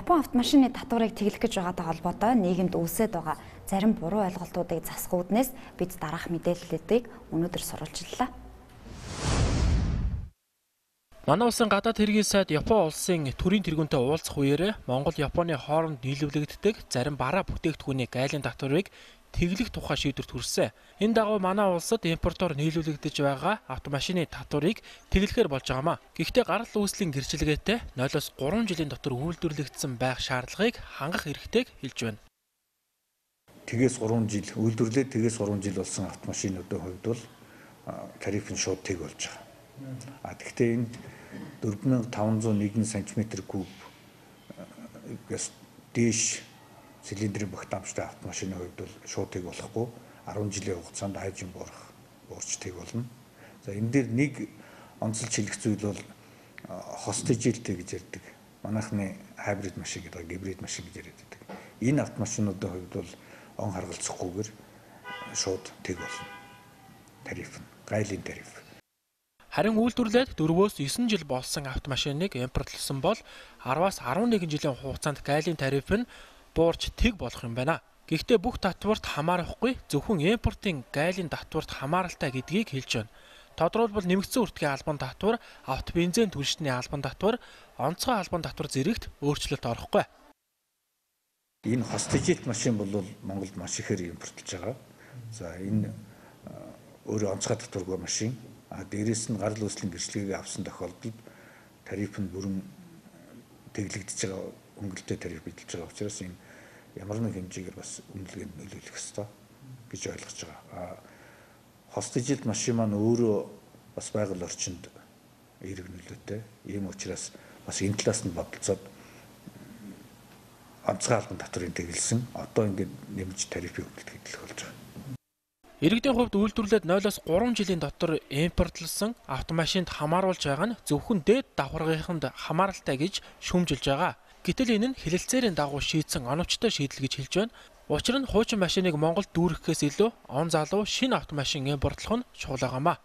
Япон автомашины татварыг тэглэх гэж байгаатай холбоотой нийгэмд үүсээд байгаа зарим буруу ойлголтуудыг засахгүйднээс бид дараах мэдээллүүдийг өнөөдөр сурвалжлалаа. Манай улсын гадаад хэргийн сайд Япон улсын төрийн тэргүүнтэй уулзах үеэр Монгол Японы хооронд нийлүүлэгддэг зарим бараа бүтээгдэхүүний гайлын татварыг тэглэх тухай шийдвэрт хүрсэн. Энэ дагуу манай улсад импортоор нийлүүлэгдэж байгаа автомашины татварыг тэглэхээр болж байгаамаа. Гэхдээ гарал үүслийн гэрчилгээтэй 0-3 жилийн дотор үйлдвэрлэгдсэн байх шаардлагыг хангах эрхтэйг хэлж байна. Тэгээс 3 жил үйлдвэрлээд тэгээс 3 жил болсон автомашинуудын хувьд бол тариф нь шууд тэг болж байгаа. Тэгэхдээ энд 4501 см3-гээс дээш цилиндрийн багтаамжтай автомашины хувьд бол шууд тэг болохгүй 10 жилийн хугацаанд хайжин буурч тэг болно. За энэ дээр нэг онцлж хэлэх зүйл бол хостижилтэй гэж ярьдаг. Манайхны хайбрид машин гэдэг гибрид машин гэж яриад байдаг. Энэ автомашинуудын хувьд бол он харгалзахгүйгээр шууд тэг болно. Тариф нь гайлын тариф. Харин үйлдвэрлээд 4-9 жил болсон автомашиныг импортлсон бол 10-аас 11 жилийн хугацаанд гайлын тариф нь буурч тэг болох юм байна. Гэхдээ бүх татварт хамаарахгүй зөвхөн импортын гайлын татварт хамааралтай гэдгийг хэлж байна. Тодорхойлбол нэмэгдсэн үртгийн албан татвар, автобензин түлшний албан татвар, онцгой албан татвар зэрэгт өөрчлөлт орохгүй. Энэ хостижит машин бол Монголд маш ихээр импортлж байгаа. За энэ өөрөө онцгой татваргүй машин. Дээрээс нь гарал үүслийн гэрчлэгийг авсан тохиолдолд тариф нь бүрэн тэглэгдэж байгаа өнгөлтэй тариф бидэлж байгаа учраас энэ ямар нэг хэмжээгээр бас үнэлгээнд нөлөөлөх ёстой гэж ойлгож байгаа. Хостижит машин маань өөрөө бас байгаль орчинд эерэг нөлөөтэй. Ийм учраас бас энэ талаас нь бодолцоод онцгой албан татврын тэглэсэн одоо ингээд нэмж тарифын хөгжөлт хэлэх болж байгаа. Иргэдийн хувьд үйлдвэрлээд 0-3 жилийн дотор импортлсон автомашинд хамааруулж байгаа нь зөвхөн дээд давхаргынханд хамааралтай гэж шүүмжилж байгаа. Гэтэл энэ нь хэлэлцээрийн дагуу шийдсэн оновчтой шийдэл гэж хэлж байна. Учир нь хуучин машиныг Монголд дүүрэхээс илүү он залуу шинэ автомашин импортлох нь чухал байгаамаа.